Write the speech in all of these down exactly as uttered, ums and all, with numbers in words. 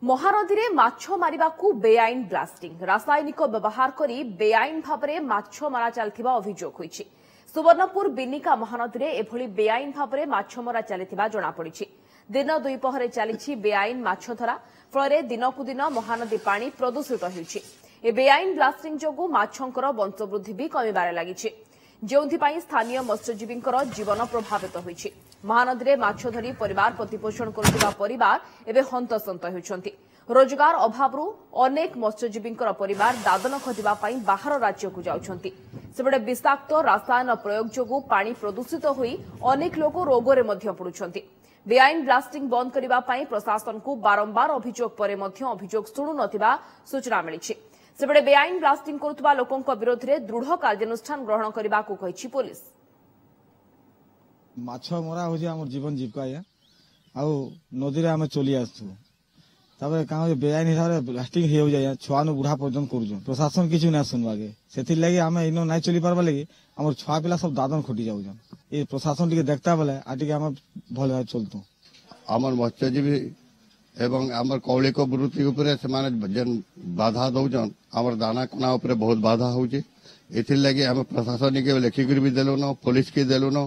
ମହାନଦୀରେ ମାଛ ମାରିବାକୁ ବେଆଇନ ବ୍ଲାଷ୍ଟିଂ, ରାସାୟନିକ ବ୍ୟବହାର କରି ବେଆଇନ ଭାବରେ ମାଛ ମରା ଚାଲିଥିବା ଅଭିଯୋଗ ହୋଇଛି। ସୁବର୍ଣ୍ଣପୁର ବିନିକା ମହାନଦୀରେ ଏଭଳି ବେଆଇନ ଭାବରେ ମାଛ ମରା ଚାଲିଥିବା ଜଣାପଡ଼ିଛି। ଦିନ ଦ୍ୱିପହରେ ଚାଲିଛି ବେଆଇନ ମାଛଧରା, ଫଳରେ ଦିନକୁ ଦିନ ମହାନଦୀ ପାଣି ପ୍ରଦୂଷିତ ହେଉଛି। ଏ ବେଆଇନ ବ୍ଲାଷ୍ଟିଂ ଯୋଗୁଁ ମାଛଙ୍କର ବଂଶବୃଦ୍ଧି ବି କମିବାରେ ଲାଗିଛି, ଯେଉଁଥିପାଇଁ ସ୍ଥାନୀୟ ମତ୍ସ୍ୟଜୀବୀଙ୍କର ଜୀବନ ପ୍ରଭାବିତ ହୋଇଛି। ମହାନଦୀରେ ମାଛ ଧରି ପରିବାର ପ୍ରତିପୋଷଣ କରୁଥିବା ପରିବାର ଏବେ ହନ୍ତସନ୍ତ ହେଉଛନ୍ତି। ରୋଜଗାର ଅଭାବରୁ ଅନେକ ମତ୍ସ୍ୟଜୀବୀଙ୍କର ପରିବାର ଦାଦନ ଖଟିବା ପାଇଁ ବାହାର ରାଜ୍ୟକୁ ଯାଉଛନ୍ତି। ସେପଟେ ବିଷାକ୍ତ ରାସାୟନ ପ୍ରୟୋଗ ଯୋଗୁଁ ପାଣି ପ୍ରଦୂଷିତ ହୋଇ ଅନେକ ଲୋକ ରୋଗରେ ମଧ୍ୟ ପଡୁଛନ୍ତି। ବେଆଇନ ବ୍ଲାଷ୍ଟିଂ ବନ୍ଦ କରିବା ପାଇଁ ପ୍ରଶାସନକୁ ବାରମ୍ବାର ଅଭିଯୋଗ ପରେ ମଧ୍ୟ ଅଭିଯୋଗ ଶୁଣୁନଥିବା ସୂଚନା ମିଳିଛି। ସେପଟେ ବେଆଇନ ବ୍ଲାଷ୍ଟିଂ କରୁଥିବା ଲୋକଙ୍କ ବିରୋଧରେ ଦୃଢ଼ କାର୍ଯ୍ୟାନୁଷ୍ଠାନ ଗ୍ରହଣ କରିବାକୁ କହିଛି ପୋଲିସ। ମାଛ ମରା ହେଉଛି ଆମର ଜୀବନ ଜୀବିକା ଆଜ୍ଞା, ଆଉ ନଦୀରେ ଆମେ ଚଲି ଆସୁଛୁ। ତାପରେ କାଁ ହଉଛି, ବେଆଇନ ହିସାବରେ ବ୍ଲାଷ୍ଟିଂ ହେଇଯାଉଛି ଆଜ୍ଞା, ଛୁଆନୁ ବୁଢା ପର୍ଯ୍ୟନ୍ତ କରୁଛନ୍। ପ୍ରଶାସନ କିଛି ନାଇଁ ଶୁଣବାକେ, ସେଥିର୍ଲାଗି ଆମେ ଇନ ନାଇଁ ଚଲି ପାରବା ଲାଗି ଆମର ଛୁଆ ପିଲା ସବୁ ଦାଦନ ଖଟି ଯାଉଛନ୍। ଏ ପ୍ରଶାସନ ଟିକେ ଦେଖତା ବେଲେ ଆଉ ଟିକେ ଆମେ ଭଲ ଭାବେ ଚଲତୁ। ଆମର ମତ୍ସ୍ୟଜୀବୀ ଏବଂ ଆମର କୌଳିକ ବୃତ୍ତି ଉପରେ ସେମାନେ ଯେନ୍ ବାଧା ଦଉଛନ୍, ଆମର ଦାନା କଣା ଉପରେ ବହୁତ ବାଧା ହଉଛି। ଏଥିର୍ଲାଗି ଆମେ ପ୍ରଶାସନିକ ଲେଖିକରି ବି ଦେଲୁନ, ପୋଲିସକେ ଦେଲୁନ,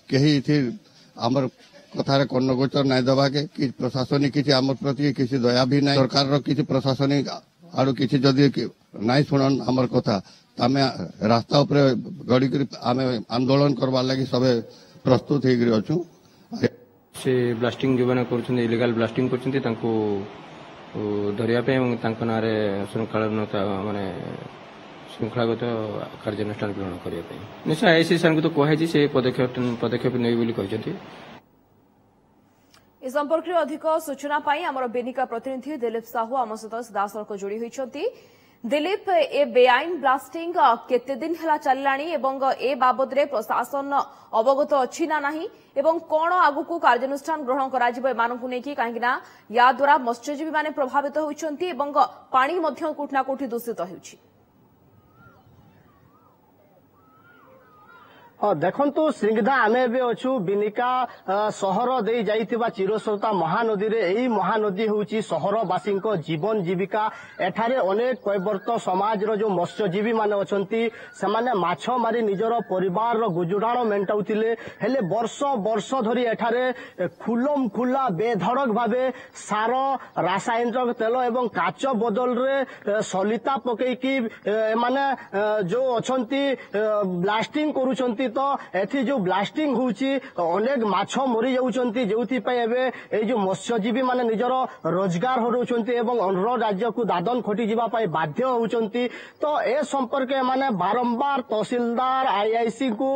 କେହି ଏଥିର୍ ଆମର କଥାରେ କର୍ଣ୍ଣଗୋଚର ନାଇଁ ଦେବାକେ କି ପ୍ରଶାସନିକ କିଛି ଆମର ପ୍ରତି କିଛି ଦୟା ବି ନାଇଁ। ସରକାରର କିଛି ପ୍ରଶାସନିକ ଆଡୁ କିଛି ଯଦି ନାଇଁ ଶୁଣନ୍ ଆମର କଥା, ଆମେ ରାସ୍ତା ଉପରେ ଗଡ଼ିକରି ଆମେ ଆନ୍ଦୋଳନ କରବାର ଲାଗି ସବେ ପ୍ରସ୍ତୁତ ହେଇକରି ଅଛୁ। ସେ ବ୍ଲାଷ୍ଟିଂ ଯେଉଁମାନେ କରୁଛନ୍ତି, ଇଲିଗାଲ ବ୍ଲାଷ୍ଟିଂ କରୁଛନ୍ତି, ତାଙ୍କୁ ଧରିବା ପାଇଁ ଏବଂ ତାଙ୍କ ନାଁରେ ଶୃଙ୍ଖଳାନତା ମାନେ ଶୃଙ୍ଖଳାଗତ କାର୍ଯ୍ୟାନୁଷ୍ଠାନ ଗ୍ରହଣ କରିବା ପାଇଁ ନିଶ୍ଚୟ ଆଇଆଇସି ସାର୍ଙ୍କୁ ତ କୁହାଯାଇଛି, ସେ ପଦକ୍ଷେପ ପଦକ୍ଷେପ ନେବେ ବୋଲି କହିଛନ୍ତି। ଏ ସମ୍ପର୍କରେ ଅଧିକ ସୂଚନା ପାଇଁ ଆମର ବେନିକା ପ୍ରତିନିଧି ଦିଲ୍ଲୀପ ସାହୁ ଆମ ସହିତ ସିଧାସଳଖ ଯୋଡ଼ି ହୋଇଛନ୍ତି। ଦିଲ୍ଲୀପ, ଏ ବେଆଇନ ବ୍ଲାଷ୍ଟିଂ କେତେ ଦିନ ହେଲା ଚାଲିଲାଣି ଏବଂ ଏ ବାବଦରେ ପ୍ରଶାସନ ଅବଗତ ଅଛି ନା ନାହିଁ, ଏବଂ କଣ ଆଗକୁ କାର୍ଯ୍ୟାନୁଷ୍ଠାନ ଗ୍ରହଣ କରାଯିବ ଏମାନଙ୍କୁ ନେଇକି? କାହିଁକି ନା ୟା ଦ୍ୱାରା ମତ୍ସ୍ୟଜୀବୀମାନେ ପ୍ରଭାବିତ ହେଉଛନ୍ତି ଏବଂ ପାଣି ମଧ୍ୟ କୋଉଠି ନା କୋଉଠି ଦୂଷିତ ହେଉଛି। ହଁ ଦେଖନ୍ତୁ ସ୍ନିଗ୍ଧା, ଆମେ ଏବେ ଅଛୁ ବିନିକା ସହର ଦେଇ ଯାଇଥିବା ଚିରସ୍ରୋତା ମହାନଦୀରେ। ଏଇ ମହାନଦୀ ହେଉଛି ସହରବାସୀଙ୍କ ଜୀବନ ଜୀବିକା। ଏଠାରେ ଅନେକ କୈବର୍ତ୍ତ ସମାଜର ଯୋଉ ମତ୍ସ୍ୟଜୀବୀ ମାନେ ଅଛନ୍ତି, ସେମାନେ ମାଛ ମାରି ନିଜର ପରିବାରର ଗୁଜୁରାଣ ମେଣ୍ଟାଉଥିଲେ। ହେଲେ ବର୍ଷ ବର୍ଷ ଧରି ଏଠାରେ ଖୁଲମ ଖୁଲା ବେଧଡ଼କ ଭାବେ ସାର, ରାସାୟନିକ ତେଲ ଏବଂ କାଚ ବଦଳରେ ସଲିତା ପକେଇକି ଏମାନେ ଯୋଉ ଅଛନ୍ତି ବ୍ଲାଷ୍ଟିଂ କରୁଛନ୍ତି। ତ ଏଠି ଯୋଉ ବ୍ଲାଷ୍ଟିଂ ହଉଛି, ଅନେକ ମାଛ ମରି ଯାଉଛନ୍ତି, ଯେଉଁଥିପାଇଁ ଏବେ ଏଇ ଯୋଉ ମତ୍ସ୍ୟଜୀବୀ ମାନେ ନିଜର ରୋଜଗାର ହରାଉଛନ୍ତି ଏବଂ ଅନ୍ୟ ରାଜ୍ୟକୁ ଦାଦନ ଖଟିଯିବା ପାଇଁ ବାଧ୍ୟ ହଉଛନ୍ତି। ତ ଏ ସମ୍ପର୍କରେ ଏମାନେ ବାରମ୍ବାର ତହସିଲଦାର, ଆଇଆଇସି ଙ୍କୁ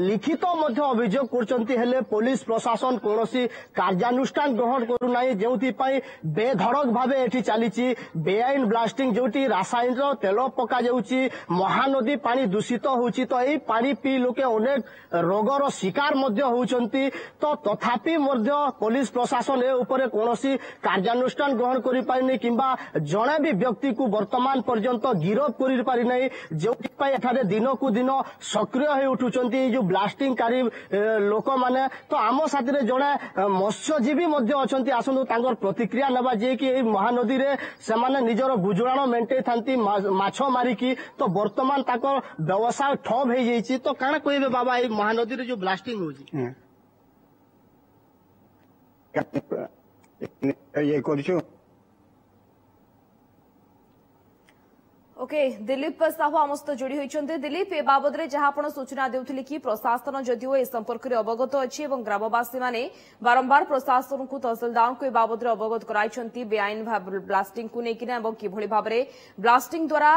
ଲିଖିତ ମଧ୍ୟ ଅଭିଯୋଗ କରୁଛନ୍ତି, ହେଲେ ପୋଲିସ ପ୍ରଶାସନ କୌଣସି କାର୍ଯ୍ୟାନୁଷ୍ଠାନ ଗ୍ରହଣ କରୁନାହିଁ, ଯେଉଁଥିପାଇଁ ବେଧଡ଼କ ଭାବେ ଏଠି ଚାଲିଛି ବେଆଇନ ବ୍ଲାଷ୍ଟିଂ, ଯୋଉଠି ରାସାୟନିକ ତେଲ ପକାଯାଉଛି, ମହାନଦୀ ପାଣି ଦୂଷିତ ହଉଛି। ତ ଏଇ ପାଣି ପିଇ ଲୋକେ ଅନେକ ରୋଗର ଶିକାର ମଧ୍ୟ ହଉଛନ୍ତି। ତ ତଥାପି ମଧ୍ୟ ପୋଲିସ ପ୍ରଶାସନ ଏ ଉପରେ କୌଣସି କାର୍ଯ୍ୟାନୁଷ୍ଠାନ ଗ୍ରହଣ କରିପାରିନି କିମ୍ବା ଜଣେ ବି ବ୍ୟକ୍ତିକୁ ବର୍ତ୍ତମାନ ପର୍ଯ୍ୟନ୍ତ ଗିରଫ କରିପାରିନାହିଁ, ଯେଉଁଥିପାଇଁ ଏଠାରେ ଦିନକୁ ଦିନ ସକ୍ରିୟ ହୋଇ ଉଠୁଛନ୍ତି ଏଇ ଯୋଉ ବ୍ଲାଷ୍ଟିଂକାରୀ ଲୋକମାନେ। ତ ଆମ ସାଥିରେ ଜଣେ ମତ୍ସ୍ୟଜୀବୀ ମଧ୍ୟ ଅଛନ୍ତି, ଆସନ୍ତୁ ତାଙ୍କର ପ୍ରତିକ୍ରିୟା ନେବା, ଯିଏକି ଏଇ ମହାନଦୀରେ ସେମାନେ ନିଜର ଗୁଜୁରାଣ ମେଣ୍ଟେଇଥାନ୍ତି ମାଛ ମାରିକି। ତ ବର୍ତ୍ତମାନ ତାଙ୍କର ବ୍ୟବସାୟ ଠପ୍ ହେଇଯାଇଛି। ତ କାଣା କହିବେ ବାବା, ଏଇ ମହାନଦୀରେ ଯୋଉ ବ୍ଲାଷ୍ଟିଂ ହଉଛି? ଇଏ କରୁଛୁ। ଓକେ, ଦିଲ୍ଲୀପ ସାହୁ ଆମ ସହିତ ଯୋଡ଼ି ହୋଇଛନ୍ତି। ଦିଲ୍ଲୀପ, ଏ ବାବଦରେ ଯାହା ଆପଣ ସୂଚନା ଦେଉଥିଲେ କି ପ୍ରଶାସନ ଯଦିଓ ଏ ସମ୍ପର୍କରେ ଅବଗତ ଅଛି ଏବଂ ଗ୍ରାମବାସୀମାନେ ବାରମ୍ବାର ପ୍ରଶାସନକୁ, ତହସିଲଦାରଙ୍କୁ ଏ ବାବଦରେ ଅବଗତ କରାଇଛନ୍ତି ବେଆଇନ ବ୍ଲାଷ୍ଟିଂକୁ ନେଇକିନା ଏବଂ କିଭଳି ଭାବରେ ବ୍ଲାଷ୍ଟିଂ ଦ୍ୱାରା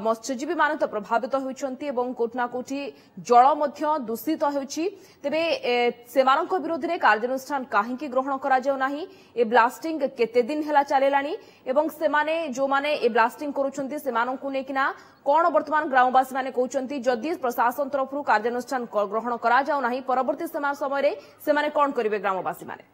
ମତ୍ସ୍ୟଜୀବୀମାନେ ତ ପ୍ରଭାବିତ ହେଉଛନ୍ତି ଏବଂ କୋଉଠି ନା କୋଉଠି ଜଳ ମଧ୍ୟ ଦୂଷିତ ହେଉଛି, ତେବେ ସେମାନଙ୍କ ବିରୋଧରେ କାର୍ଯ୍ୟାନୁଷ୍ଠାନ କାହିଁକି ଗ୍ରହଣ କରାଯାଉ ନାହିଁ? ଏ ବ୍ଲାଷ୍ଟିଂ କେତେ ଦିନ ହେଲା ଚାଲିଲାଣି ଏବଂ ସେମାନେ ଯେଉଁମାନେ ଏ ବ୍ଲାଷ୍ଟିଂ କରୁଛନ୍ତି ସେମାନଙ୍କୁ ନେଇକିନା କଣ ବର୍ତ୍ତମାନ ଗ୍ରାମବାସୀ ମାନେ କହୁଛନ୍ତି? ଯଦି ପ୍ରଶାସନ ତରଫରୁ କାର୍ଯ୍ୟାନୁଷ୍ଠାନ ଗ୍ରହଣ କରାଯାଉ ନାହିଁ, ପରବର୍ତ୍ତୀ ସମୟରେ ସେମାନେ କଣ କରିବେ ଗ୍ରାମବାସୀ ମାନେ?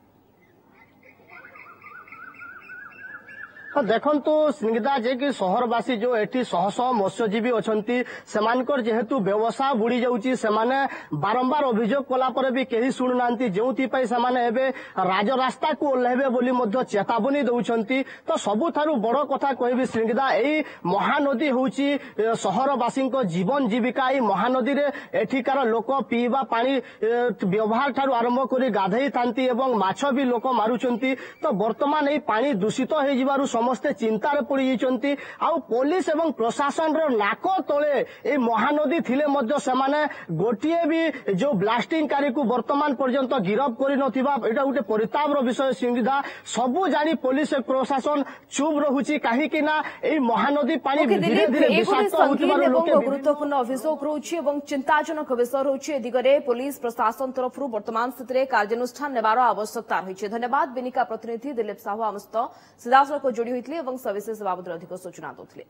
ଦେଖନ୍ତୁ ସ୍ନିଗ୍ଧା, ଯେ କି ସହରବାସୀ ଯୋଉ ଏଠି ଶହ ଶହ ମତ୍ସ୍ୟଜୀବୀ ଅଛନ୍ତି, ସେମାନଙ୍କର ଯେହେତୁ ବ୍ୟବସାୟ ବୁଡି ଯାଉଛି, ସେମାନେ ବାରମ୍ବାର ଅଭିଯୋଗ କଲା ପରେ ବି କେହି ଶୁଣୁନାହାନ୍ତି, ଯେଉଁଥିପାଇଁ ସେମାନେ ଏବେ ରାଜରାସ୍ତାକୁ ଓହ୍ଲାଇବେ ବୋଲି ମଧ୍ୟ ଚେତାବନୀ ଦେଉଛନ୍ତି। ତ ସବୁଠାରୁ ବଡ କଥା କହିବି ସ୍ନିଗ୍ଧା, ଏଇ ମହାନଦୀ ହେଉଛି ସହରବାସୀଙ୍କ ଜୀବନ ଜୀବିକା। ଏଇ ମହାନଦୀରେ ଏଠିକାର ଲୋକ ପିଇବା ପାଣି ବ୍ୟବହାର ଠାରୁ ଆରମ୍ଭ କରି ଗାଧେଇଥାନ୍ତି ଏବଂ ମାଛ ବି ଲୋକ ମାରୁଛନ୍ତି। ତ ବର୍ତ୍ତମାନ ଏଇ ପାଣି ଦୂଷିତ ହେଇଯିବାରୁ ସମସ୍ତେ ଚିନ୍ତାରେ ପଡିଯାଇଛନ୍ତି। ଆଉ ପୋଲିସ ଏବଂ ପ୍ରଶାସନର ନାକ ତଳେ ଏଇ ମହାନଦୀ ଥିଲେ ମଧ୍ୟ ସେମାନେ ଗୋଟିଏ ବି ଯୋଉ ବ୍ଲାଷ୍ଟିଂକାରୀକୁ ବର୍ତ୍ତମାନ ପର୍ଯ୍ୟନ୍ତ ଗିରଫ କରିନଥିବା ଏଇଟା ଗୋଟେ ପରିତାପର ବିଷୟ ସ୍ନିଗ୍ଧା। ସବୁ ଜାଣି ପୋଲିସ ପ୍ରଶାସନ ଚୁପ୍ ରହୁଛି, କାହିଁକି ନା ଏଇ ମହାନଦୀ ପାଣି ଧୀରେ ଧୀରେ ବିଷାକ୍ତ ହେଉଥିବାରୁ ଲୋକେ ଗୁରୁତ୍ୱପୂର୍ଣ୍ଣ ଅଭିଯୋଗ ରହୁଛି ଏବଂ ଚିନ୍ତାଜନକ ବିଷୟ ରହୁଛି। ଏ ଦିଗରେ ପୋଲିସ ପ୍ରଶାସନ ତରଫରୁ ବର୍ତ୍ତମାନ ସ୍ଥିତିରେ କାର୍ଯ୍ୟାନୁଷ୍ଠାନ ନେବାର ଆବଶ୍ୟକତା ରହିଛି। ଧନ୍ୟବାଦ, ବିନିକା ପ୍ରତିନିଧି ଦିଲ୍ଲୀପ ସାହୁ ଆମ ସହିତ ସିଧାସଳଖ ଯୋଡ଼ି ହୋଇଥିଲେ ଏବଂ ସବିଶେଷ ବାବଦରେ ଅଧିକ ସୂଚନା ଦେଉଥିଲେ।